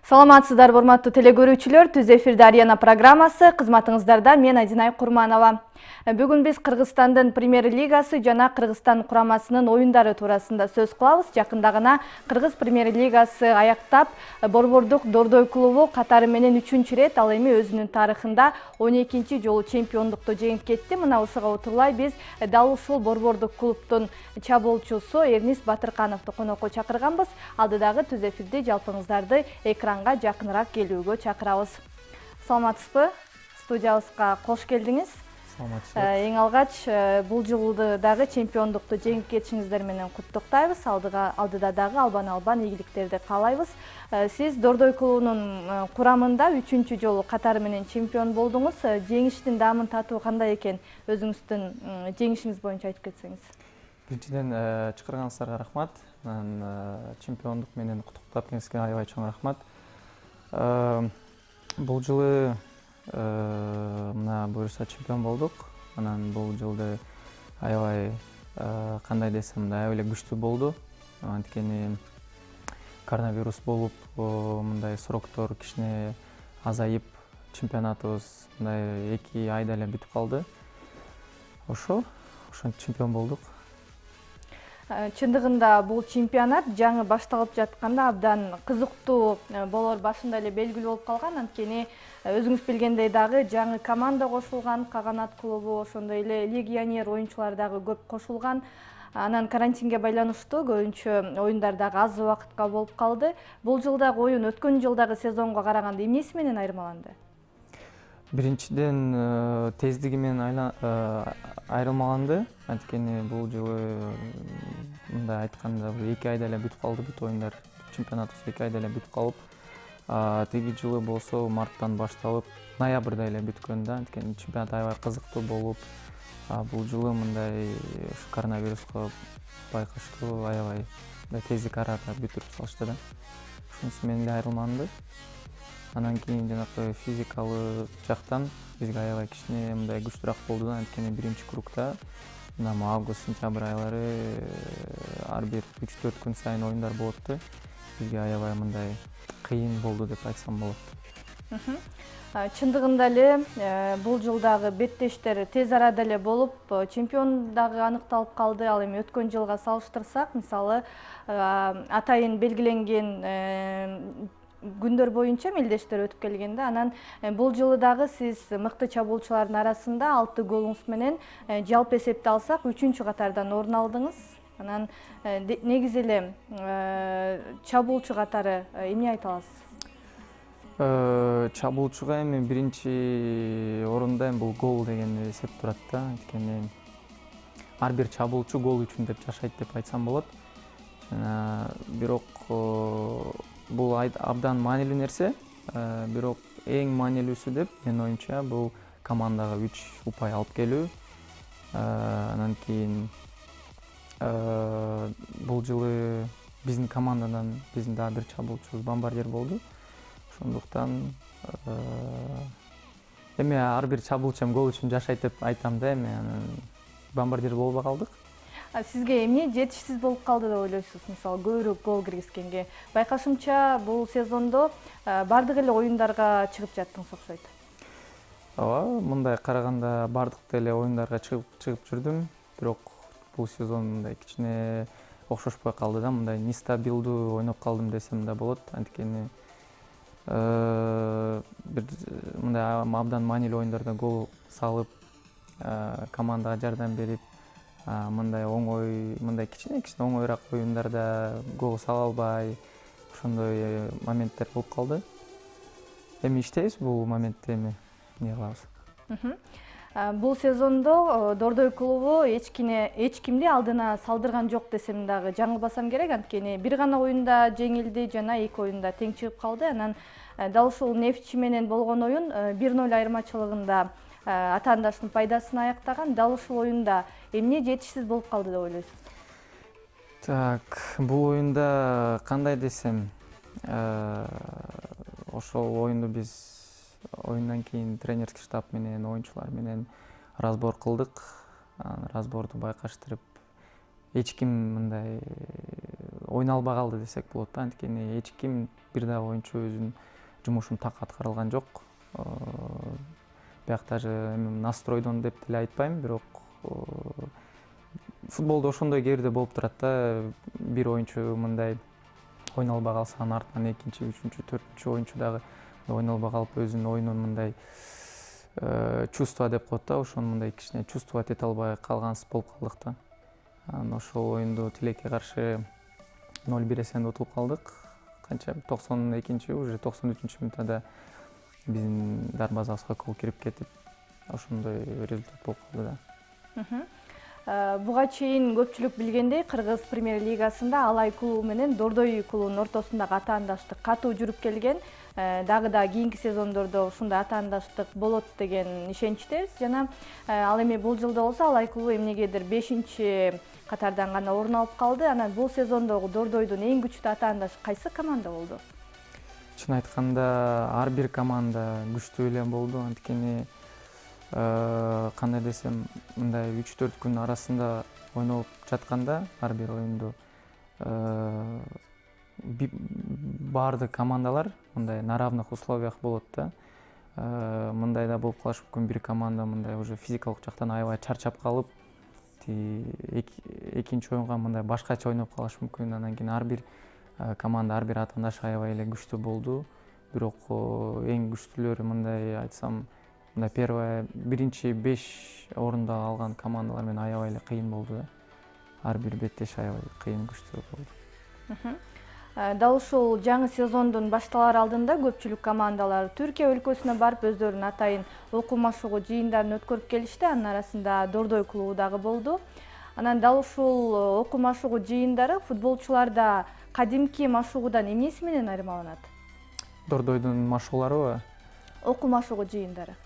Саламатсыздарбы, урматтуу телекөрүүчүлөр, Түз эфирде Арена программасы, кызматыңыздарда мен Айдинай Курманова. Бүгүн биз Кыргызстандын премьер-лигасы жана Кыргызстан курамасынын оюндары туурасында сөз кылабыз. Жакында гана Кыргыз премьер-лигасы аяктап, Борбордук Дордой клубу катары менен 3-чү рет, ал эми өзүнүн тарыхында 12-чи жолу чемпиондукту жеңип кетти. Мына ушуга утурлай биз дал ушул Борбордук клубтун чабуулчусу Эрнис Батыркановду конокко чакырганбыз. Алдыдагы Түз эфирде жалпыңыздарды экранга жакыныраак келүүгө чакырабыз. Саламатсызбы? Студиябызга кош келдиңиз. Эң алгач бул жылды дагы чемпиондукту жеңип кетишиңиздер менен куттуктайбыз. Алдыда дагы албан ийгиликтерди каалайбыз. Сиз Дордой клубунун курамында 3-чү жолу катары менен чемпион болдуңуз. Жеңиштин даамын татуу кандай экен? Өзүңүздүн жеңишиңиз боюнча айтып кетсеңиз. Биринчиден чакырганыңыздарга рахмат. Чемпиондук менен куттуктап келиңизге аябай чоң рахмат. Бул жылы мына буюрса чемпион болдук. Анан бул жылды аябай кандай десем, аябай эле күчтүү болду. Анткени коронавирус болуп, мындай сроктор кичине азайып, чемпионатыбыз мындай 2 айда эле бүтүп калды. Ошентип чемпион болдук. Чындыгында бул чемпионат жаңы башталып жатканда абдан кызыктуу болор башында эле белгилүү болуп калган. Анткени өзүңүз билгендей дагы жаңы команда кошулган, Каганат клубу, ошондой эле легионер оюнчулар дагы көп кошулган. Анан карантинге байланыштуу көбүнчө оюндар дагы аз убакытка болуп калды. Бул жылдагы оюн өткөн жылдагы сезонго караганда эмнеси менен айырмаланды? Биринчиден тездиги менен айырмаланды. Анткени бул жылы мындай айтканда 2 айда эле бүтүп калды бүт оюндар. Чемпионатыбыз 2 айда эле бүтүп калып, тиги жылы болсо марттан башталып, ноябрда эле бүткөн да. Анткени чемпионат аябай кызыктуу болуп, бул жылы мындай коронавируска байкаштуу аябай тездик арада бүтүрүп салышты да. Ушунусу менен эле айырмаланды. Анан кийин жанагы физикалык жактан бизге аябай кичине мындай күчтүүрөөк болду да. Анткени биринчи кругта мына август-сентябрь айлары ар бир 3-4 күн сайын оюндар болупту. Бизге аябай мындай кыйын болду деп айтсам болот. Чындыгында эле бул жылдагы беттештер тез арада эле болуп, чемпион дагы аныкталып калды. Ал эми өткөн жылга салыштырсак, мисалы, атайын белгиленген күндөр боюнча мелдештер өтүп келгенде, анан бул жылы дагы сиз мыкты чабуулчулардын арасында 6 голуңуз менен жалпы эсепти алсак 3-чү катардан орун алдыңыз. Анан негизи эле чабуулчу катары эмне айта аласыз? Чабуулчуга эми биринчи орунда бул гол деген эсеп турат да. Анткени ар бир чабуулчу гол үчүн деп жашайт деп айтсам болот. Бирок бул абдан маанилүү нерсе. Бирок эң маанилүүсү деп менин оюмча бул командага 3 упай алып келүү. Анан кийин бул жылы биздин командадан биздин дагы бир чабуулчубуз бомбардир болду. Ошондуктан эми ар бир чабуулчу гол үчүн жашайт деп айтам да. Эми бомбардир болбой калдык. Сизге эмне жетишсиз болуп калды деп ойлойсуз? Мисалы, көбүрөөк гол киргизгенге. Байкашымча, бул сезондо бардык эле оюндарга чыгып жаттыңыз окшойт. Ооба, мындай караганда бардык эле оюндарга чыгып жүрдүм. Бирок бул сезон мындай кичине окшошпой калды да. Мындай нестабилдүү ойноп калдым десем да болот. Анткени бир мындай абдан маанилүү оюндарда гол салып, командага жардам берип, мындай оңой, мындай кичине оңоyраак оюндарда гол сала албай, ошондой моменттер болуп калды. Эми иштейбиз бул моментте, эми эмне кылабыз. Бул сезондо Дордой клубу эч кимди алдына салдырган жок десем дагы жаңылбасам керек. Анткени бир гана оюнда жеңилди жана 2 оюнда тең чыгып калды. Анан дал ушул Нефтчи менен болгон оюн 1-0 айырмачылыгында атаандаштын пайдасына аяктаган. Дал ушул оюнда эмне жетишсиз болуп калды деп ойлойсуз? Так, бул оюнда кандай десем, ошол оюнду биз оюндан кийин тренерский штаб менен оюнчулар менен разбор кылдык. Разборду байкаштырып, эч ким мындай ойноно албай калды десек болот да. Анткени эч ким бир дагы оюнчу өзүнүн жумушун так аткара алган жок. Бияк даже настройдон деп деле айтпайм, бирок футболдо ошондой кээ бирде болуп турат да. Бир оюнчу мындай ойноно албай калса, анын артынан экинчи, үчүнчү, төртүнчү оюнчу дагы ойноно албай калып, өзүнүн оюнун мындай чувство деп коет да, ошону мындай кичине чувствовать эте албай калгансыз болуп калдык да. Анан ошол оюнду Тилекке каршы 0-1 эсебинде утулуп калдык. Канча 92-нчи, уже 93-мүнүттө минутада биздин дарбазабызга гол кирип кетип, ошондой результат болуп калды да. Буга чейин көпчүлүк билгендей, Кыргыз премьер-лигасында Алай клубу менен Дордой клубунун ортосундагы атаандаштык катуу жүрүп келген. Дагы да кийинки сезондордо ушундай атаандаштык болот деген ишеничтебиз. Жана ал эми бул жылда болсо Алай клубу эмнегедир 5-чи катардан гана орун алып калды. Анан бул сезондогу Дордойдун эң күчтүү атаандашы кайсы команда болду? Чын айтканда, ар бир команда күчтүү эле болду. Анткени кандай десем, мындай 3-4 күн арасында ойноп жатканда ар бир оюнду баардык командалар мындай на равных условиях болот да. Мындай да болуп калышы мүмкүн, бир команда мындай уже физикалык жактан аябай чарчап калып, экинчи оюнга мындай башкача ойноп калышы мүмкүн. Анан кийин ар бир команда, ар бир атаандаш аябай эле күчтүү болду. Бирок эң күчтүүлөрү, мындай айтсам, мындай биринчи 5 орунду алган командалар менен аябай эле кыйын болду да. Ар бир беттеш аябай кыйын, күчтүү болду. Дал ушул жаңы сезондун башталар алдында көпчүлүк командалар Түркия өлкөсүнө барып өздөрүнүн атайын окуу машыгуу жыйындарын өткөрүп келишти. Анын арасында Дордой клубу дагы болду. Анан дал ушул окуу машыгуу жыйындары футболчуларда кадимки машыгуудан эмнеси менен айырмаланат? Дордойдун машыгууларыбы? Окуу машыгуу жыйындары.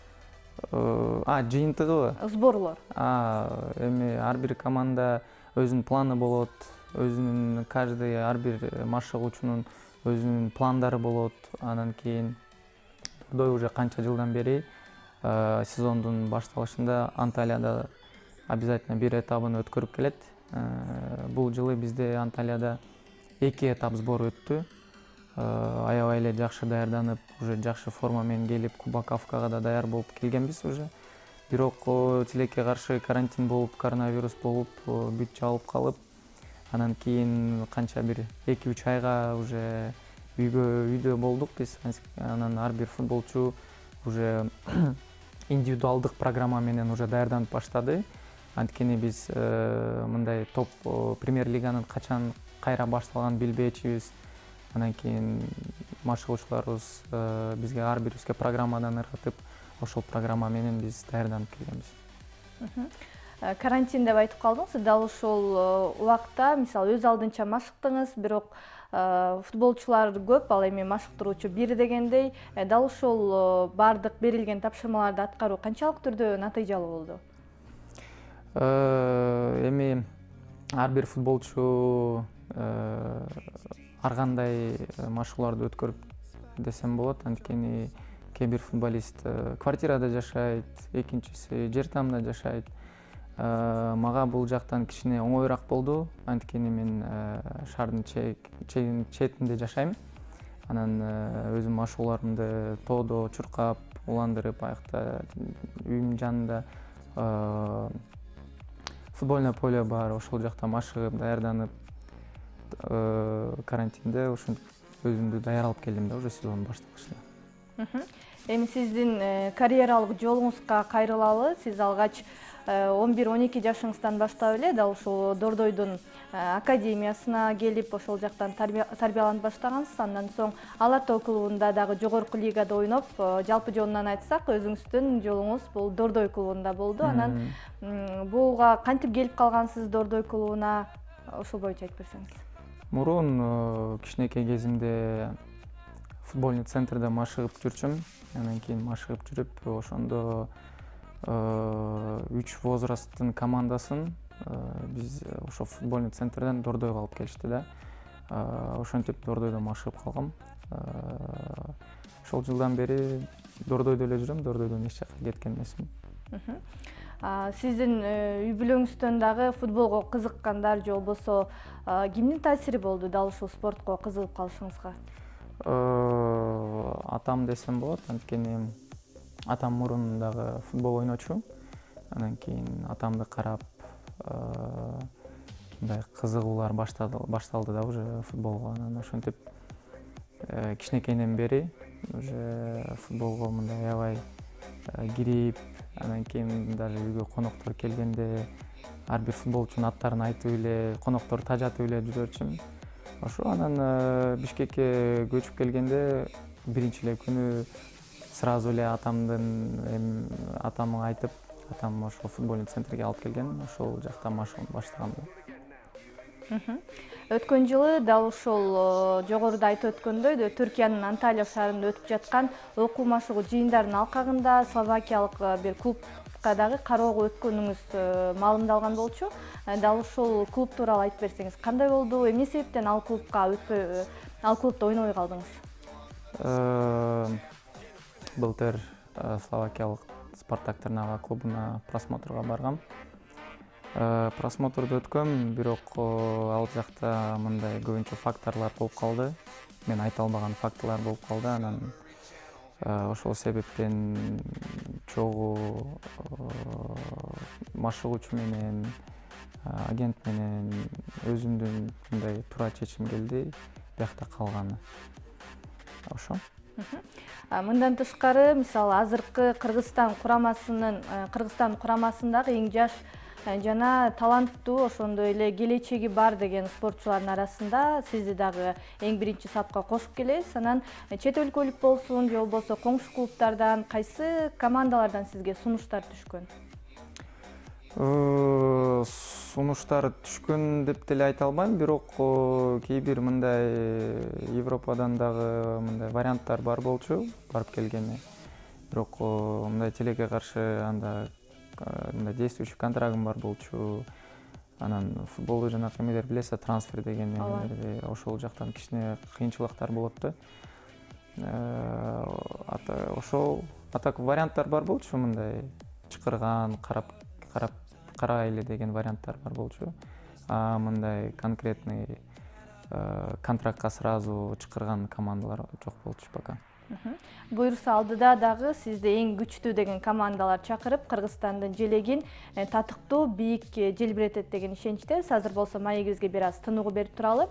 Жыйынтыгыбы? Сборлор. Эми ар бир команда өзүнүн планы болот. Өзүнүн каждый ар бир машыгуучунун өзүнүн пландары болот. Анан кийин Дордой уже канча жылдан бери сезондун башталышында Анталияда обязательно бир этабын өткөрүп келет. Бул жылы бизде Анталияда 2 этап сбор өттү. Аябай эле жакшы даярданып, уже жакшы форма менен келип, Кубок Кавказга да даяр болуп келгенбиз уже. Бирок Тилекке каршы карантин болуп, коронавирус болуп, бүт жабылып калып, анан кийин канча бир 2-3 айга уже үйдө болдук биз. Анан ар бир футболчу уже индивидуалдык программа менен уже даярданып баштады. Анткени биз мындай топ премьер-лиганын качан кайра башталганын билбечүбүз. Анан кийин машыгуучуларыбыз бизге ар бирибизге программадан ыргытып, ошол программа менен биз даярданып келгенбиз. Карантин деп айтып калдыңыз. Дал ушул убакта, мисалы, өз алдынча машыктыңыз, бирок футболчулар көп, ал эми машыктыруучу бир дегендей. Дал ушул бардык берилген тапшырмаларды аткаруу канчалык түрдө натыйжалуу болду? Эми ар бир футболчу ар кандай машыгууларды өткөрүп десем болот. Анткени кээ бир футболист квартирада жашайт, экинчиси жер тамда жашайт. Мага бул жактан кичине оңоюраак болду. Анткени мен шаардын четинде жашайм. Анан өзүм машыгууларымды тоодо чуркап, уландырып, аякта үйүмдүн жанында футбольное поле бар, ошол жакта машыгып, даярданып, карантинде ушинтип өзүмдү даяр алып келдим да, уже сезон башталышында. Эми сиздин карьералык жолуңузга кайрылалы. Сиз алгач 11-12 жашыңыздан баштап эле дал ушул Дордойдун академиясына келип, ошол жактан тарбияланып баштагансыз. Андан соң Ала Тоо клубунда дагы жогорку лигада ойноп, жалпы жонунан айтсак, өзүңүздүн жолуңуз бул Дордой клубунда болду. Анан буга кантип келип калгансыз Дордой клубуна? Ошол боюнча айтып берсеңиз. Мурун кичинекей кезимде футбольный центрде машыгып жүрчүм. Анан кийин машыгып жүрүп, ошондо 3 возрасттын командасын биз ошо футбольный центрден Дордойго алып келишти да. Ошентип Дордойдо машыгып калгам. Ошол жылдан бери Дордойдо эле жүрөм, Дордойдон эч жакка кеткен эмесмин. Сиздин үй бүлөңүздөн дагы футболго кызыккандар же болбосо кимдин таасири болду дал ушул спортко кызыгып калышыңызга? Атам десем болот, анткени атам мурун дагы футбол ойночу. Анан кийин атамды карап мындай кызыгуулар башталды да уже футболго. Анан ошентип кичинекейден бери уже футболго мындай аябай кирип, анан кийин даже үйгө коноктор келгенде ар бир футболчунун аттарын айтып эле, коноктор тажатып эле жүрчүмүн. Ошо анан Бишкекке көчүп келгенде биринчи эле күнү сразу эле атамга айтып, атам ошо футбольный центрге алып келген, ошол жактан машыгууну баштагам да. Өткөн жылы дал ушул жогоруда айтып өткөндөй Түркиянын Анталия шаарында өтүп жаткан окуу машыгуу жыйындарынын алкагында словакиялык бир клубка дагы кароого өткөнүңүз маалымдалган болчу. Дал ушул клуб тууралуу айтып берсеңиз, кандай болду, эмне себептен ал клубка ал клубда ойнобой калдыңыз? Былтыр словакиялык Спартак Трнава клубуна просмотрго баргам. Просмотрду өткөм, бирок ал жакта мындай көбүнчө факторлор болуп калды. Мен айта албаган фактылар болуп калды. Анан ошол себептен чогуу машыгуучу менен, агент менен өзүмдүн мындай туура чечим келди, биякта калганы. Ошо. Мындан тышкары, мисалы, азыркы Кыргызстан курамасындагы эң жаш жана таланттуу, ошондой эле келечеги бар деген спортчулардын арасында сизди дагы эң биринчи сапка кошуп келебиз. Анан чет өлкөлүк болсун же болбосо коңшу клубтардан, кайсы командалардан сизге сунуштар түшкөн? Сунуштар түшкөн деп деле айта албайм, бирок кээ бир мындай Европадан дагы мындай варианттар бар болчу, барып келгене. Бирок мындай тилекке каршы анда мындай действующий контрагым бар болчу. Анан футболду жанакы эмелер билесиз, трансфер деген эмелерди, ошол жактан кичине кыйынчылыктар болот да. Ошол атак варианттар бар болчу, мындай чакырган, карайлы деген варианттар бар болчу. Мындай конкретный контрактка сразу чакырган командалар жок болчу пока. Буюрса алдыда дагы сизди эң күчтүү деген командалар чакырып, Кыргызстандын желегин татыктуу, бийик желбиретет деген ишеничтебиз. Азыр болсо маегибизге бир аз тыныгуу берип туралы.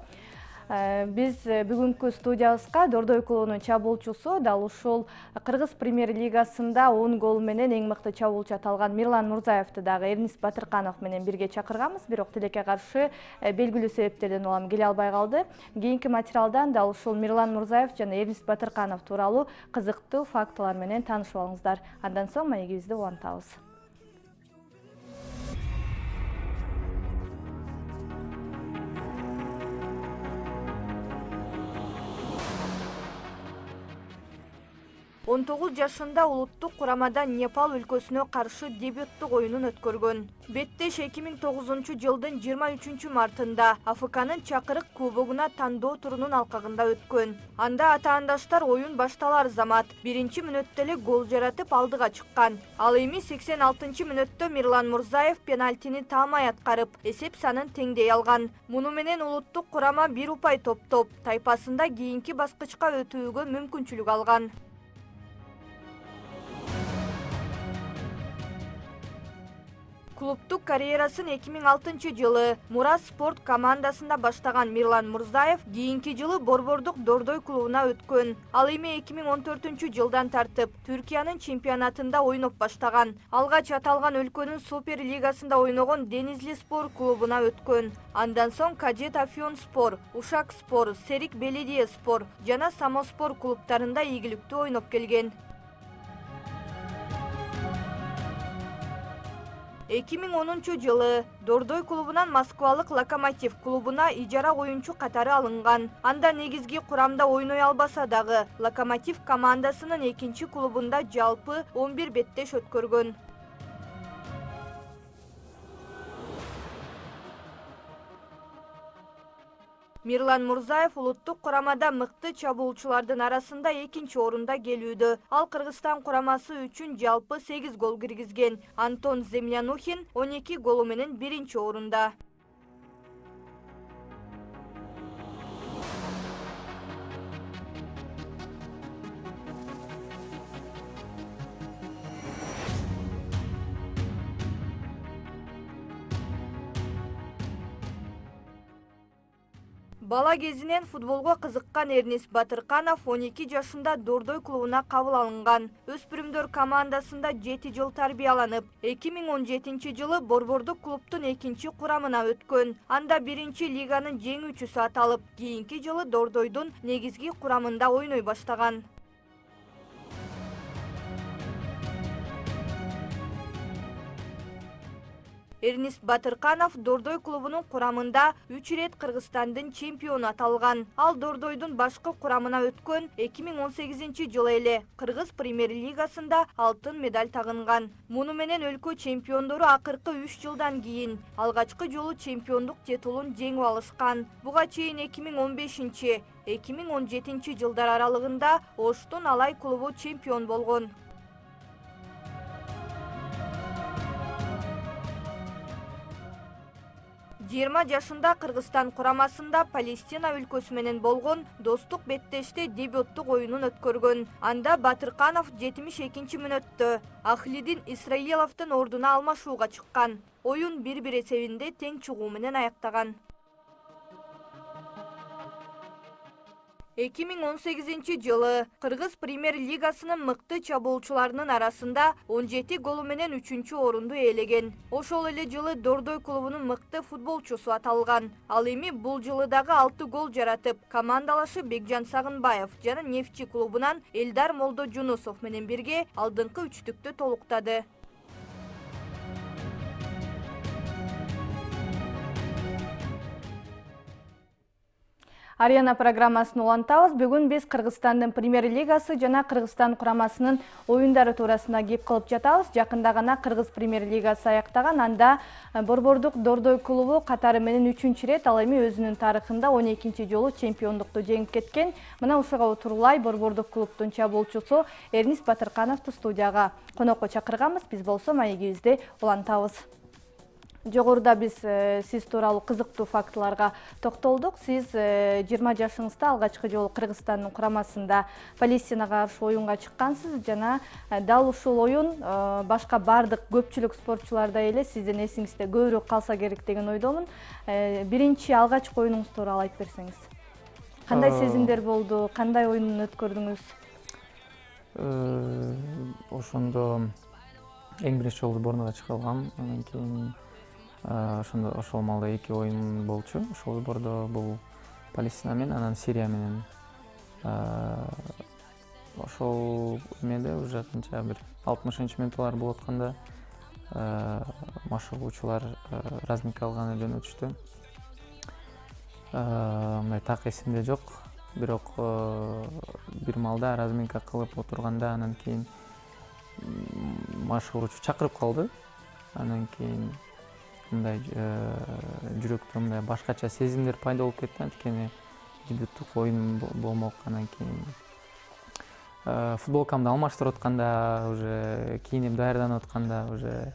Биз бүгүнкү студиябызга Дордой клубунун чабуулчусу, дал ушул Кыргыз премьер-лигасында 10 гол менен эң мыкты чабуулчу аталган Мирлан Мурзаевди дагы Эрнист Батырканов менен бирге чакырганбыз, бирок тилекке каршы белгилүү себептерден улам келе албай калды. Кийинки материалдан дал ушул Мирлан Мурзаев жана Эрнист Батырканов тууралуу кызыктуу фактылар менен таанышып алыңыздар. Андан соң маегибизди улантабыз. 19 жашында улуттук курамада Непал өлкөсүнө каршы дебюттук оюнун өткөргөн. Беттеш 2009 жылдын 23 мартында АФКнын Чакырык кубогуна тандоо турунун алкагында өткөн. Анда атаандаштар оюн башталар замат биринчи мүнөттө эле гол жаратып алдыга чыккан. Ал эми 86 мүнөттө Мирлан Мурзаев пенальтини таамай аткарып, эсеп санын теңдей алган. Муну менен улуттук курама бир упай топтоп, тайпасында кийинки баскычка өтүүгө мүмкүнчүлүк алган. Клубтук карьерасын 2006 жылы Мурас спорт командасында баштаган Мирлан Мурзаев кийинки жылы Борбордук Дордой клубуна өткөн. Ал эми 2014 жылдан тартып Түркиянын чемпионатында ойноп баштаган. Алгач аталган өлкөнүн Супер лигасында ойногон Денизли спор клубуна өткөн. Андан соң Кадет Афьон спор, Ушак спор, Серик Беледие спор жана Самоспор клубтарында ийгиликтүү ойноп келген. 2010 жылы Дордой клубунан Москвалык Локомотив клубуна ижара оюнчу катары алынган. Анда негизги курамда ойной албаса дагы Локомотив командасынын экинчи клубунда жалпы 11 беттеш өткөргөн. Мирлан Мурзаев улуттук курамада мыкты чабуучулардын арасында 2-нчи орунда келүүдө. Ал Кыргызстан курамасы үчүн жалпы 8 гол киргизген. Антон Землянухин 12 голу менен 1-нчи орунда. Бала кезинен футболго кызыккан Эрнис Батырканов 12 жашында Дордой клубуна кабыл алынган. Өспүрүмдөр командасында 7 жыл тарбияланып, 2017 жылы Борбордук клубтун 2-нчи курамына өткөн. Анда 1-нчи лиганын жеңүүчүсү аталып, кийинки жылы Дордойдун негизги курамында ойной баштаган. Эрнис Батырканов Дордой клубунун курамында 3 рет Кыргызстандын чемпиону аталган. Ал Дордойдун башкы курамына өткөн 2018 жылы эле Кыргыз премьер-лигасында алтын медаль тагынган. Муну менен өлкө чемпиондору акыркы 3 жылдан кийин алгачкы жолу чемпиондук титулун жеңип алышкан. Буга чейин 2015-2017 жылдар аралыгында Оштун Алай клубу чемпион болгон. 20 жашында Кыргызстан курамасында Палестина өлкөсү менен болгон достук беттеште дебюттук оюнун өткөргөн. Анда Батырканов 72 мүнөттө Ахлидин Исраиловдун ордуна алмашууга чыккан. Оюн 1-1 эсебинде тең чыгуу менен аяктаган. 2018 жылы Кыргыз премьер-лигасынын мыкты чабуучуларынын арасында 17 голу менен 3-чү орунду ээлеген. Ошол эле жылы Дордой клубунун мыкты футболчусу аталган. Ал эми бул жылы дагы 6 гол жаратып, командалашы Бекжан Сагынбаев жана Нефчи клубунан Элдар Молдожунусов менен бирге алдыңкы үчтүктү толуктады. Арена программасын улантабыз. Бүгүн биз Кыргызстандын премьер-лигасы жана Кыргызстан курамасынын оюндары туурасында кеп кылып жатабыз. Жакында гана Кыргыз премьер-лигасы аяктаган. Анда Борбордук Дордой клубу катары менен 3-чү рет ал эми өзүнүн тарыхында 12-чи жолу чемпиондукту жеңип кеткен. Мына ушуга утурлай Борбордук клубтун чабуучусу Эрнис Батыркановду студияга конокко чакырганбыз. Биз болсо маегибизди улантабыз. Жогоруда биз сиз тууралуу кызыктуу фактыларга токтолдук. Сиз 20 жашыңызда алгачкы жолу Кыргызстандын курамасында Палестинага каршы оюнга чыккансыз жана дал ушул оюн башка бардык көпчүлүк спортчулардай эле сиздин эсиңизде көбүрөөк калса керек деген ойдомун. Биринчи алгачкы оюнуңуз тууралуу айтып берсеңиз. Кандай сезимдер болду? Кандай оюн өткөрдүңүз? Ошондо эң биринчи жолу Борнога чыгылгам. Анан кийин ошол маалда 2 оюн болчу. Ошол бордо бул Палестина менен, анан Сирия менен. Ошол эмеде уже канча бир 60-мүнөттөр болуп атканда машыгуучулар разминка алганы жөнөтүштү. Мындай так эсимде жок. Бирок бир маалда разминка кылып отурганда анан кийин машыгуучу чакырып калды. Анан кийин мындай жүрөктө мындай башкача сезимдер пайда болуп кетти. Анткени дебюттук оюн болмок. Анан кийин футболкамды алмаштырып атканда, уже кийинип даярданып атканда, уже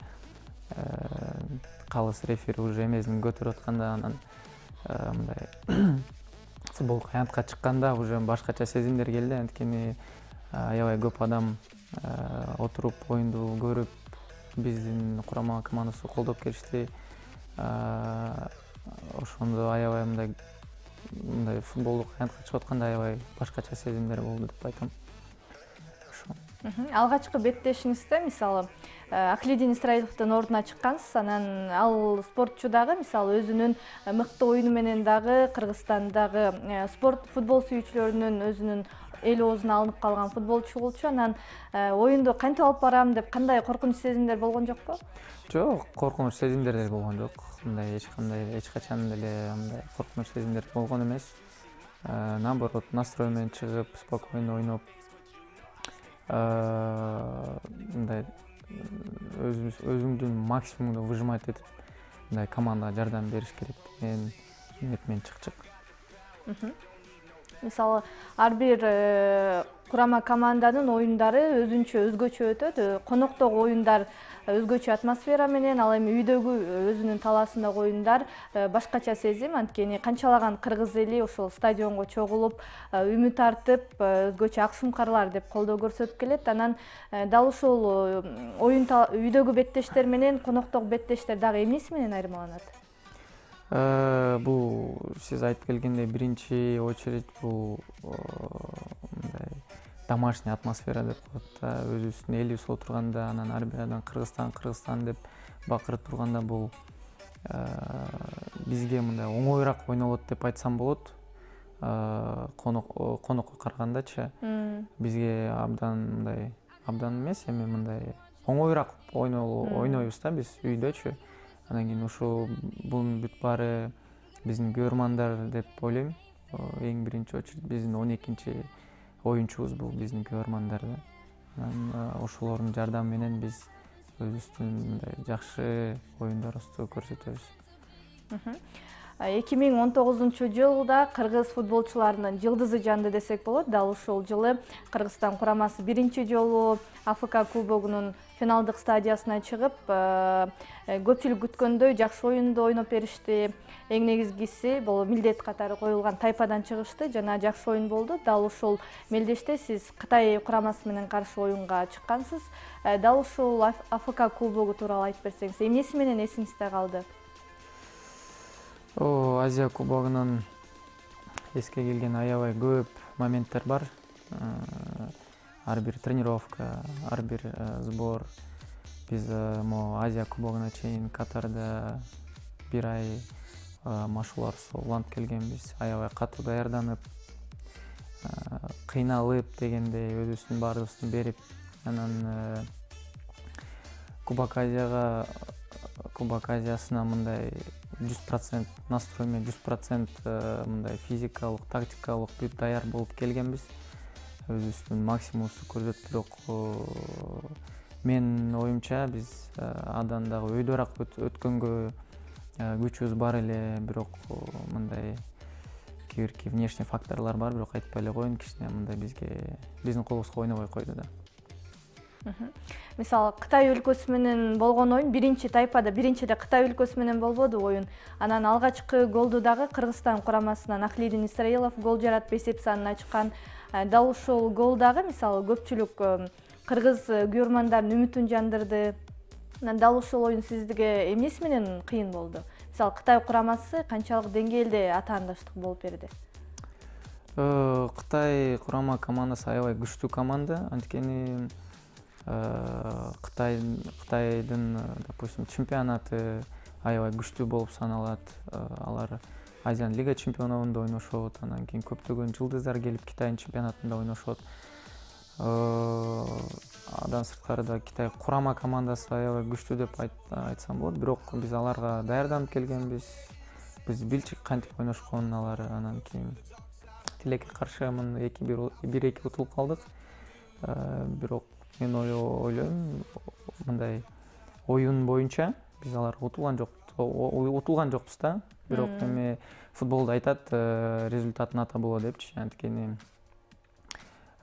калыс рефери уже эмесин көтөрүп атканда, анан мындай футболка аянтка чыкканда уже башкача сезимдер келди. Анткени аябай көп адам отуруп оюнду көрүп, биздин курама командасы колдоп келишти. Ошондо аябай мындай футболдук аянтка чыгып атканда аябай башкача сезимдер болду деп айтам. Алгачкы беттешиңизде мисалы Ахлидин Исраиловдун ордуна чыккансыз, анан ал спортчу дагы мисалы өзүнүн мыкты оюну менен дагы Кыргызстандагы спорт футбол сүйүүчүлөрүнүн өзүнүн эл оозуна алынып калган футболчу болчу. Анан оюнду кантип алып барам деп кандай коркунуч сезимдер болгон жокпу? Жок, коркунуч сезимдер деле болгон жок. Мындай эч качан деле мындай коркунуч сезимдер болгон эмес. Наоборот, настрой менен чыгып, спокойно ойноп, мындай өзүңдүн максимумду выжимать этип, мындай командага жардам бериш керек деген ниет менен чыкчык. Мисалы, ар бир курама команданын оюндары өзгөчө өтөт. Коноктогу оюндар өзгөчө атмосфера менен, ал эми үйдөгү өзүнүн талаасындагы оюндар башкача сезим. Анткени канчалаган кыргыз эли ошол стадионго чогулуп, үмүт артып, өзгөчө ак шумкарлар деп колдоо көрсөтүп келет. Анан дал ошол үйдөгү беттештер менен коноктогу беттештер дагы эмнеси менен айырмаланат? Бул сиз айтып келгендей биринчи очередь бул мындай домашний атмосфера деп коет да. Өзүбүздүн элибиз отурганда, анан ар бир адам Кыргызстан деп бакырып турганда бул бизге мындай оңоюраак ойнолот деп айтсам болот. Конокко карагандачы бизге абдан эмес, эми мындай оңоюраак ойнойбуз да биз үйдөчү. Анан кийин ушул бунун бүт баары биздин көрөрмандар деп ойлойм. Эң биринчи очередь биздин 12-чи оюнчубуз бул биздин көрөрмандар да. Анан ошолордун жардамы менен биз өзүбүздүн мындай жакшы оюндарыбызды көрсөтөбүз. 2019-жылда кыргыз футболчуларынын жылдызы жанды десек болот. Дал ушул жылы Кыргызстан курамасы биринчи жолу АФК кубогунун финалдык стадиясына чыгып, көпчүлүк күткөндөй жакшы оюнду ойноп беришти. Эң негизгиси бул милдет катары коюлган тайпадан чыгышты жана жакшы оюн болду. Дал ушул мелдеште сиз Кытай курамасы менен каршы оюнга чыккансыз. Дал ушул АФК кубогу тууралуу айтып берсеңиз, эмнеси менен эсиңизде калды? Азия кубогунан эске келген аябай көп моменттер бар. Ар бир тренировка, ар бир сбор. Биз могу Азия кубогуна чейин Катарда бир ай машыгууларыбызды улантып келгенбиз. Аябай катуу даярданып, кыйналып дегендей өзүбүздүн баарыбызды берип, анан Кубок Азиясына мындай 100% настрой менен, 100% мындай физикалык, тактикалык бүт даяр болуп келгенбиз. Өзүбүздүн максимумубузду көрсөтүп, бирок менин оюмча биз андан дагы өйдөраак өткөнгө күчүбүз бар эле, бирок мындай кээ бир внешний факторлор бар, бирок айтпай эле коеюн, кичине мындай биздин колубузга ойнобой койду да. Мисалы, Кытай өлкөсү менен болгон оюн биринчиде Кытай өлкөсү менен болбоду оюн. Анан алгачкы голду дагы Кыргызстан курамасынан Ахлидин Исраилов гол жаратып эсеп санын ачкан. Дал ушул гол дагы мисалы көпчүлүк кыргыз көрөрмандардын үмүтүн жандырды. Дал ушул оюн сизге эмнеси менен кыйын болду? Мисалы, Кытай курамасы канчалык деңгээлде атаандаштык болуп берди? Кытай курама командасы аябай күчтүү команда. Анткени Кытайдын, допустим, чемпионаты аябай күчтүү болуп саналат. Алар Азиян лига чемпионатында ойношот, анан кийин көптөгөн жылдыздар келип Кытайдын чемпионатында ойношот. Андан сырткары да Кытай курама командасы аябай күчтүү деп айтсам болот. Бирок биз аларга даярданып келгенбиз. Биз билчик кантип ойношконун алар. Анан кийин тилекке каршы 1-2 утулуп калдык. Бирок мен ойлойм, мындай оюн боюнча биз аларга утулган жокпуз да. Бирок эми футболдо айтат, результатын ата болот депчи. Анткени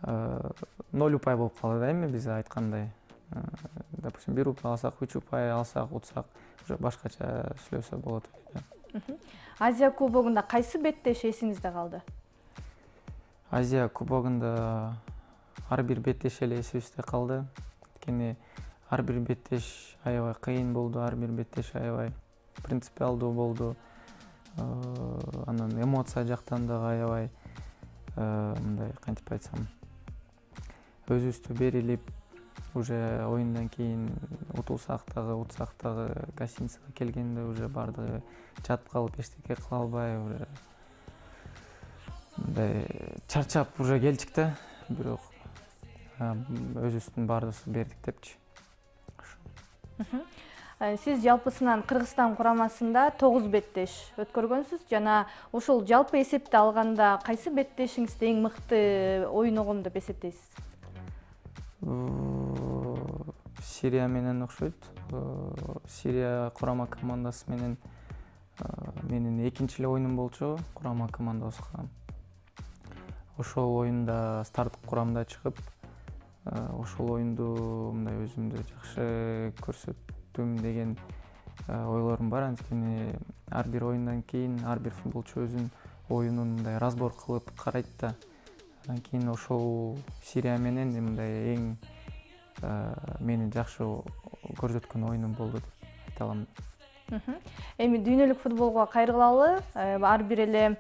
0 упай болуп калды да, эми биз айткандай. Допустим, 1 упай алсак, 3 упай алсак, утсак, уже башкача сүйлөсө болот. Азия кубогунда кайсы беттеш эсиңизде калды? Азия кубогунда ар бир беттеш эле эсибизде калды. Анткени ар бир беттеш аябай кыйын болду, ар бир беттеш аябай принципиалдуу болду. Анан эмоция жактан дагы аябай мындай кантип айтсам, өзүбүздү берилип, уже оюндан кийин утулсак дагы, утсак дагы гостиницага келгенде уже баардыгы жатып калып, эчтеке кыла албай, уже мындай чарчап уже келчик да. Бирок өзүбүздүн баарыбызды бердик депчи. Сиз жалпысынан Кыргызстан курамасында 9 беттеш өткөргөнсүз жана ошол жалпы эсепти алганда кайсы беттешиңизди эң мыкты ойногон деп эсептейсиз? Сирия менен окшойт. Сирия курама командасы менен менин экинчи эле оюнум болчу курама командабызга. Ошол оюнда старттык курамда чыгып, ошол оюнду мындай өзүмдү жакшы көрсөттүм деген ойлорум бар. Анткени ар бир оюндан кийин ар бир футболчу өзүнүн оюнун мындай разбор кылып карайт да. Андан кийин ошол Сирия менен мындай эң мени жакшы көрсөткөн оюнум болду деп айта алам. Эми дүйнөлүк футболго кайрылалы. Ар бир эле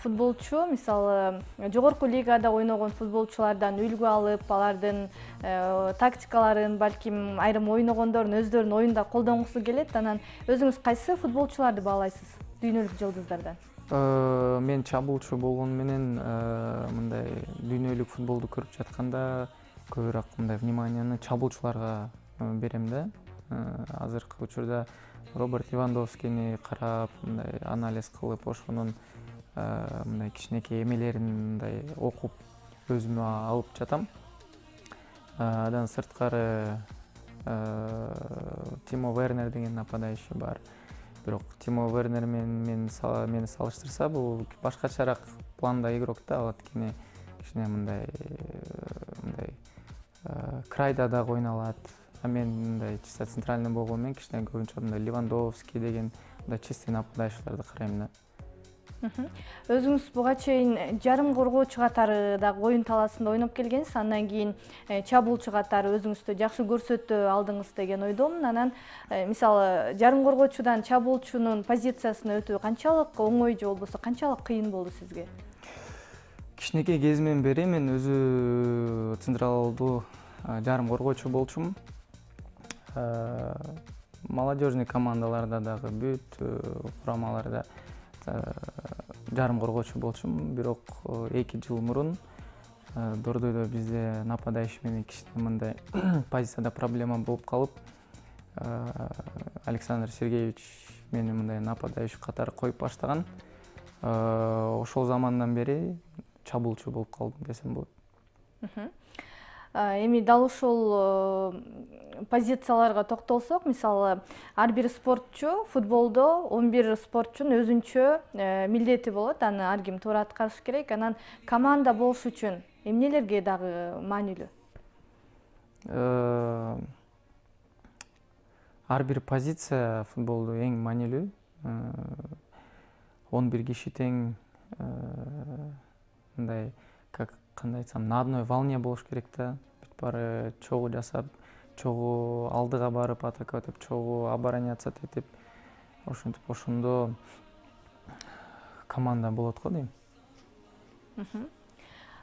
футболчу мисалы жогорку лигада ойногон футболчулардан үлгү алып, алардын тактикаларын, балким айрым ойногондордун өздөрүнүн оюнда колдонгусу келет. Анан өзүңүз кайсы футболчуларды баалайсыз дүйнөлүк жылдыздардан? Мен чабуучу болгону менен мындай дүйнөлүк футболду көрүп жатканда көбүрөөк мындай вниманияны чабуучуларга берем да. Азыркы учурда Роберт Левандовскийни карап, мындай анализ кылып, ошонун мындай кичинекей эмелерин мындай окуп өзүмө алып жатам. Андан сырткары Тимо Вернер деген нападающий бар. Бирок Тимо Вернер мени салыштырса, бул башкачараак планда игрок да, анткени кичине мындай крайда дагы ойноно алат. А мен мындай чисто центральный болгону менен кичине көбүнчө мындай Левандовский деген мындай чистый нападающийларды карайм да. Өзүңүз буга чейин жарым коргоочу катары дагы оюн талаасында ойноп келгенсиз. Андан кийин чабуучу катары өзүңүздү жакшы көрсөтө алдыңыз деген ойдомун. Анан мисалы жарым коргоочудан чабуучунун позициясына өтүү канчалык оңой же болбосо канчалык кыйын болду сизге? Кичинекей кезимден бери мен өзү централдуу жарым коргоочу болчумун. Молодежный командаларда дагы бүт курамаларда жарым коргоочу болчумун. Бирок 2 жыл мурун Дордойдо бизде нападающий менен кичине мындай позицияда проблема болуп калып, Александр Сергеевич мени мындай нападающий катары коюп баштаган. Ошол замандан бери чабуучу болуп калдым десем болот. Эми дал ушул позицияларга токтолсок, мисалы ар бир спортчу футболдо 11 спортчунун өзүнчө милдети болот. Аны ар ким туура аткарыш керек. Анан команда болуш үчүн эмнелерге дагы маанилүү? Ар бир позиция футболдо эң маанилүү. 11 киши тең мындай кандай айтсам, на одной волне болуш керек да. Бүт баары чогуу жасап, чогуу алдыга барып атака өтүп, чогуу обороняться этип, ошентип ошондо команда болот го дейм.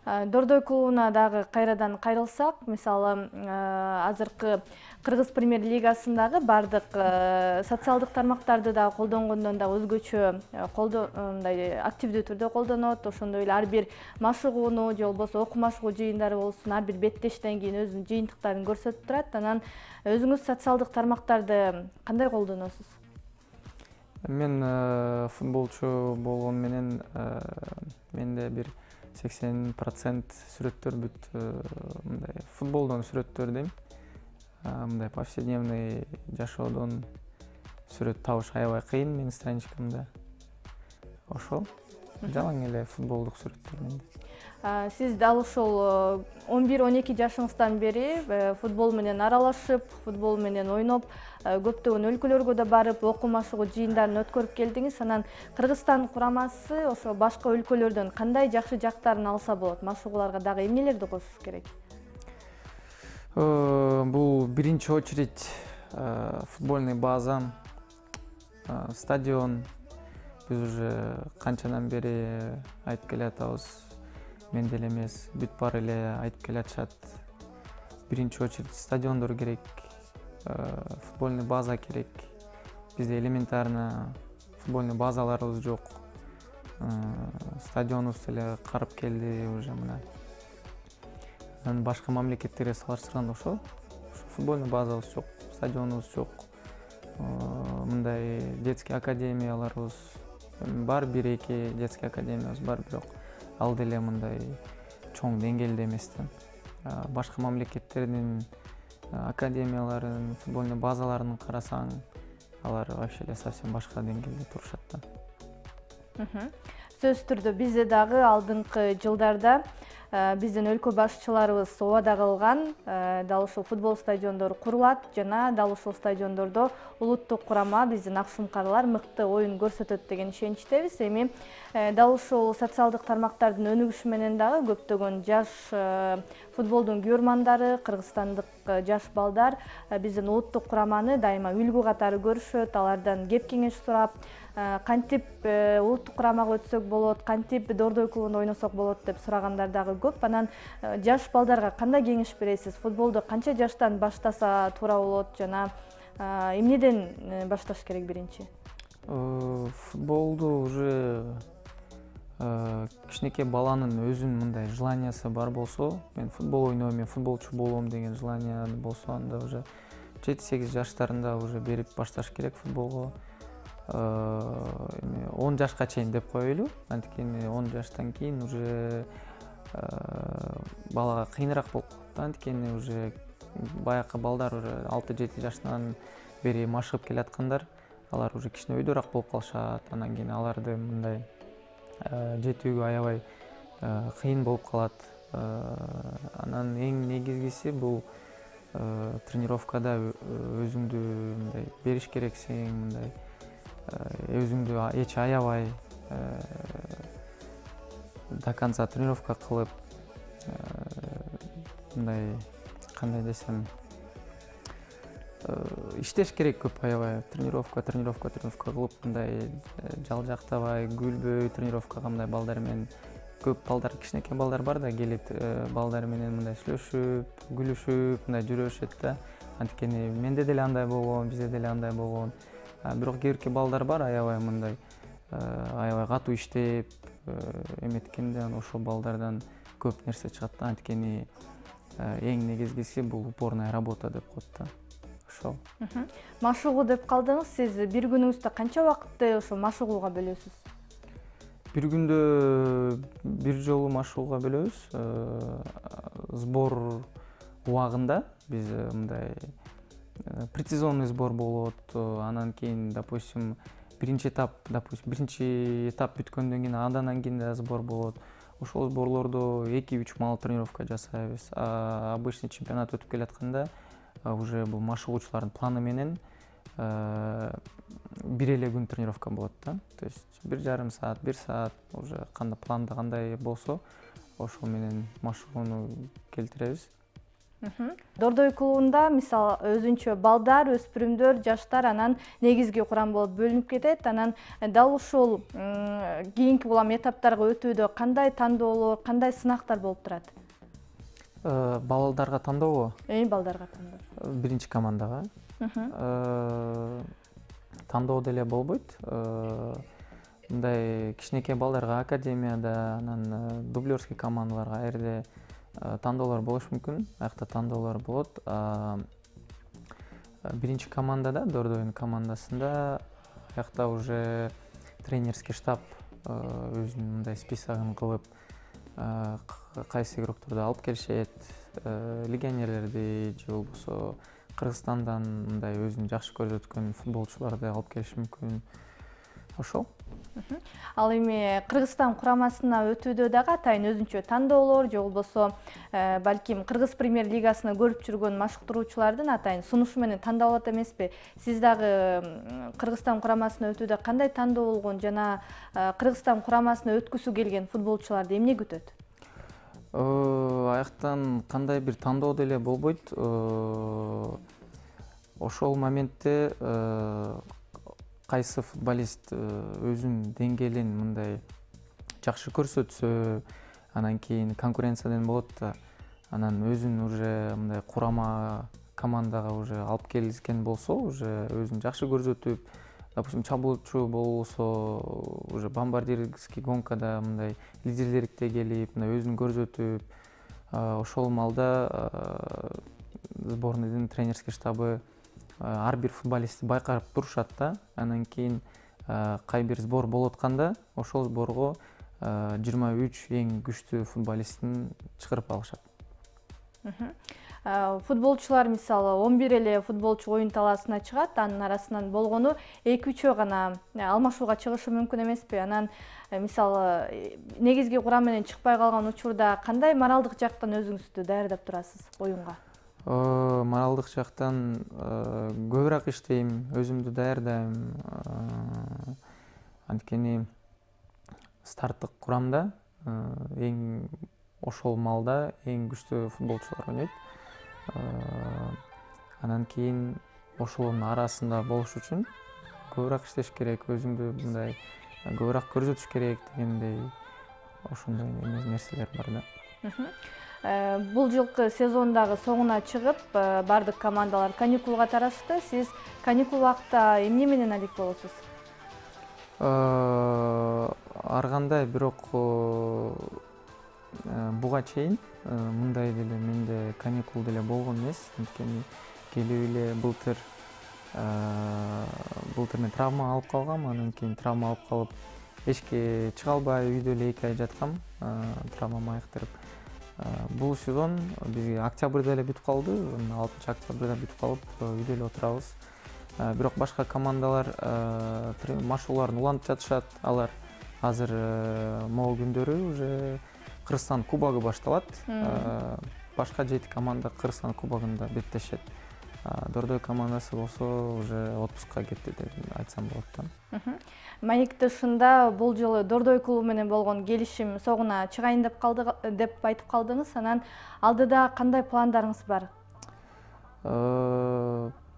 Дордой клубуна дагы кайрадан кайрылсак, мисалы азыркы Кыргыз премьер-лигасындагы бардык социалдык тармактарды дагы колдонгондон да өзгөчө мындай активдүү түрдө колдонот. Ошондой эле ар бир машыгууну же болбосо окуу машыгуу жыйындары болсун, ар бир беттештен кийин өзүнүн жыйынтыктарын көрсөтүп турат. Анан өзүңүз социалдык тармактарды кандай колдоносуз? Мен футболчу болгону менен менде бир 80% сүрөттөр бүт мындай футболдон сүрөттөр дейм. Мындай повседневный жашоодон сүрөт табыш аябай кыйын менин страничкамда. Ошол жалаң эле футболдук сүрөттөр менде. Сиз дал ушул 11-12 жашыңыздан бери футбол менен аралашып, футбол менен ойноп, көптөгөн өлкөлөргө да барып, окуу машыгуу жыйындарын өткөрүп келдиңиз. Анан Кыргызстан курамасы ошо башка өлкөлөрдөн кандай жакшы жактарын алса болот? Машыгууларга дагы эмнелерди кошуш керек? Бул биринчи очередь футбольный база, стадион. Биз уже канчадан бери айтып келатабыз. Мен деле эмес, бүт баары эле айтып келатышат. Биринчи очередь стадиондор керек, футбольный база керек. Бизде элементарно футбольный базаларыбыз жок. Стадионубуз деле карып келди уже мына. Башка мамлекеттерге салыштырганда ошо футбольный базабыз жок, стадионубуз жок. Мындай детский академияларыбыз бар, 1-2 детский академиябыз бар, бирок ал деле мындай чоң деңгээлде эмес да. Башка мамлекеттердин академияларын, футбольный базаларын карасаң, алар вообще эле совсем башка деңгээлде турушат да. Сөзсүз түрдө бизде дагы алдыңкы жылдарда биздин өлкө башчыларыбыз убада кылган дал ушул футбол стадиондору курулат жана дал ушул стадиондордо улуттук курама биздин ак шумкарлар мыкты оюн көрсөтөт деген ишеничтебиз. Эми дал ушул социалдык тармактардын өнүгүшү менен дагы көптөгөн жаш футболдун күйөрмандары, кыргызстандык жаш балдар биздин улуттук кураманы дайыма үлгү катары көрүшөт, алардан кеп кеңеш сурап, кантип улуттук курамага өтсөк болот, кантип Дордой клубунда ойносок болот деп сурагандар дагы көп. Анан жаш балдарга кандай кеңеш бересиз? Футболду канча жаштан баштаса туура болот жана эмнеден башташ керек биринчи? Футболду уже кичинекей баланын өзүнүн мындай желаниясы бар болсо, мен футбол ойнойм, мен футболчу болом деген желания болсо, анда уже 7-8 жаштарында уже берип башташ керек футболго. 10 жашка чейин деп коелу. Анткени 10 жаштан кийин уже балага кыйыныраак болуп калат. Анткени уже баякы балдар уже 6-7 жаштан бери машыгып келаткандар, алар уже кичине өйдөраак болуп калышат. Анан кийин аларды мындай жетүүгө аябай кыйын болуп калат. Анан эң негизгиси бул тренировкада өзүңдү мындай бериш керексиң, мындай өзүңдү эч аябай до конца тренировка кылып, мындай кандай десем, иштеш керек көп, аябай тренировка кылып, мындай жалжактабай, күлбөй тренировкага мындай балдар менен, көп балдар, кичинекей балдар бар да, келип балдар менен мындай сүйлөшүп, күлүшүп, мындай жүрүшөт да. Анткени менде деле андай болгон, бизде деле андай болгон. Бирок кээ балдар бар аябай мындай аябай катуу иштеп эметкенде, ошол балдардан көп нерсе чыгат да. Анткени эң негизгиси бул упорная работа деп коет да. Ошол. Машыгуу деп калдыңыз. Сиз бир күнүңүздө канча убакытты ошо машыгууга бөлөсүз? Бир күндө бир жолу машыгууга бөлөбүз. Сбор убагында биз мындай прецизионный сбор болот. Анан кийин, допустим, биринчи этап бүткөндөн кийин андан кийин да сбор болот. Ошол сборлордо 2-3 маал тренировка жасайбыз. Обычный чемпионат өтүп келатканда уже бул машыгуучулардын планы менен бир эле күн тренировка болот да. То есть 1,5 саат, 1 саат уже кандай планда кандай болсо, ошол менен машыгууну келтиребиз. Дордой клубунда мисалы өзүнчө балдар, өспүрүмдөр, жаштар анан негизги курам болуп бөлүнүп кетет. Анан дал ушул кийинки улам этаптарга өтүүдө кандай тандоолор, кандай сынактар болуп турат? Балдарга тандообу? Балдарга тандоо. Биринчи командага. Тандоо деле болбойт. Мындай кичинекей балдарга академияда, анан дублерский командаларга жерде тандоолор болушу мүмкүн. Аякта тандоолор болот. Биринчи командада, Дордойдун командасында, аякта уже тренерский штаб өзүнүн мындай списогун кылып, кайсы игрокторду алып келишет, легионерлерди же болбосо Кыргызстандан мындай өзүн жакшы көрсөткөн футболчуларды алып келиши мүмкүн. Ошол. Ал эми Кыргызстан курамасына өтүүдө дагы атайын өзүнчө тандоолор же болбосо балким Кыргыз премьер лигасына көрүп жүргөн машыктыруучулардын атайын сунушу менен тандалат эмеспи? Сиз дагы Кыргызстан курамасына өтүүдө кандай тандоо болгон жана Кыргызстан курамасына өткүсү келген футболчуларды эмне күтөт? Аяктан кандай бир тандоо деле болбойт. Ошол моментте кайсы футболист өзүнүн деңгээлин мындай жакшы көрсөтсө, анан кийин конкуренциядан болот да. Анан өзүн уже мындай курама командага уже алып келишкен болсо, уже өзүн жакшы көрсөтүп, допустим, чабуучу болсо, уже бомбардирский гонкада мындай лидерликте келип, мындай өзүн көрсөтүп, ошол маалда сборныйдын тренерский штабы ар бир футболистти байкап турушат да. Анан кийин кай бир сбор болуп атканда, ошол сборго 23 эң күчтүү футболистин чыгарып алышат. Футболчулар мисалы 11 эле футболчу оюн талаасына чыгат, анын арасынан болгону 2-3 гана алмашууга чыгышы мүмкүн эмеспи? Анан мисалы негизги курам менен чыкпай калган учурда кандай моралдык жактан өзүңүздү даярдап турасыз оюнга? Моралдык жактан көбүрөөк иштейм, өзүмдү даярдайм. Анткени старттык курамда эң ошол маалда эң күчтүү футболчулар ойнойт. Анан кийин ошолордун арасында болуш үчүн көбүрөөк иштеш керек, өзүңдү мындай көбүрөөк көрсөтүш керек дегендей ошондой нерселер бар да. Бул жылкы сезондагы соңуна чыгып, бардык командалар каникулга тарашты. Сиз каникул убакта эмне менен алек болосуз? Ар кандай, бирок буга чейин мындай деле менде каникул деле болгон эмес. Анткени келип эле былтыр мен травма алып калгам, анан кийин травма алып калып эчке чыга албай үйдө эле 2 ай жаткам, травмамды айыктырып. Бул сезон бизге октябрда эле бүтүп калды, 6 октябрда бүтүп калып, үйдө эле отурабыз. Бирок башка командалар машыгууларын улантып жатышат. Алар азыр могул күндөрү уже Кыргызстан кубогу башталат. Башка 7 команда Кыргызстан кубогунда беттешет. Дордой командасы болсо уже отпускка кетти деп айтсам болот да. Маек тышында бул жылы Дордой клубу менен болгон келишим согуна чыгайын деп айтып калдыңыз. Анан алдыда кандай пландарыңыз бар?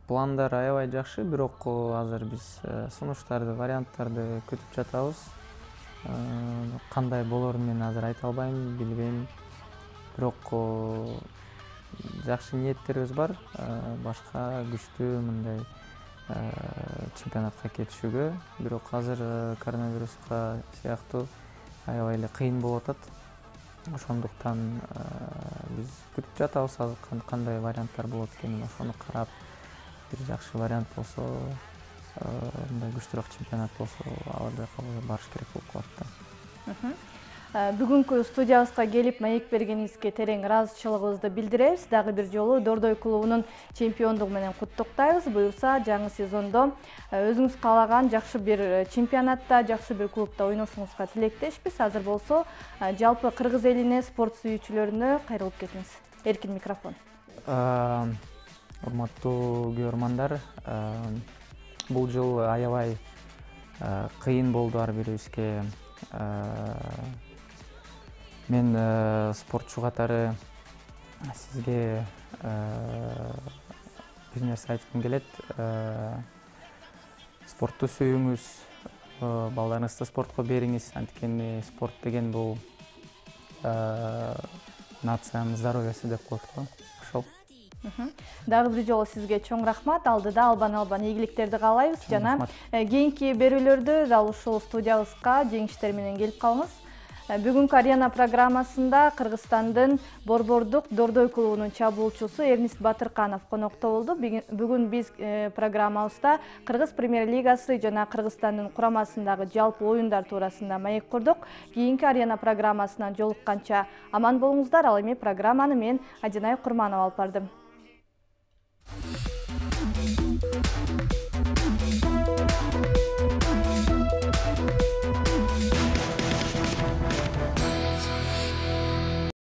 Пландар аябай жакшы, бирок азыр биз сунуштарды, варианттарды күтүп жатабыз. Кандай болорун мен азыр айта албайм, билбейм. Бирок жакшы ниеттерибиз бар. Башка күчтүү мындай чемпионатка кетишүүгө. Бирок азыр коронавируска сыяктуу аябай эле кыйын болуп атат. Ошондуктан биз күтүп жатабыз, азыр кандай варианттар болот экенин ошону карап, бир жакшы вариант болсо, мындай күчтүүрөөк чемпионат болсо, ал жака барыш керек болуп калат да. Бүгүнкү студиябызга келип маек бергениңизге терең ыраазычылыгыбызды билдиребиз. Дагы бир жолу Дордой клубунун чемпиондугу менен куттуктайбыз. Буюрса жаңы сезондо өзүңүз каалаган жакшы бир чемпионатта, жакшы бир клубта ойношуңузга тилектешпиз. Азыр болсо жалпы кыргыз элине, спорт сүйүүчүлөрүнө кайрылып кетиңиз. Эркин микрофон. Урматтуу көрөрмандар, бул жыл аябай кыйын болду ар бирибизге. Мен спортчу катары сизге бир нерсе айткым келет. Спортту сүйүңүз, балдарыңызды спортко бериңиз. Анткени спорт деген бул нациянын здоровьясы деп коет го. Ошол. Дагы бир жолу сизге чоң рахмат. Алдыда албан ийгиликтерди каалайбыз жана кийинки берүүлөрдө дал ушул студиябызга жеңиштер менен келип калыңыз. Бүгүнкү арена программасында Кыргызстандын борбордук Дордой клубунун чабуулчусу Эрнист Батырканов конокто болду. Бүгүн биз программабызда Кыргыз премьер-лигасы жана Кыргызстандын курамасындагы жалпы оюндар туурасында маек курдук. Кийинки арена программасынан жолукканча аман болуңуздар. Ал эми программаны мен Адинай Курманова алып бардым.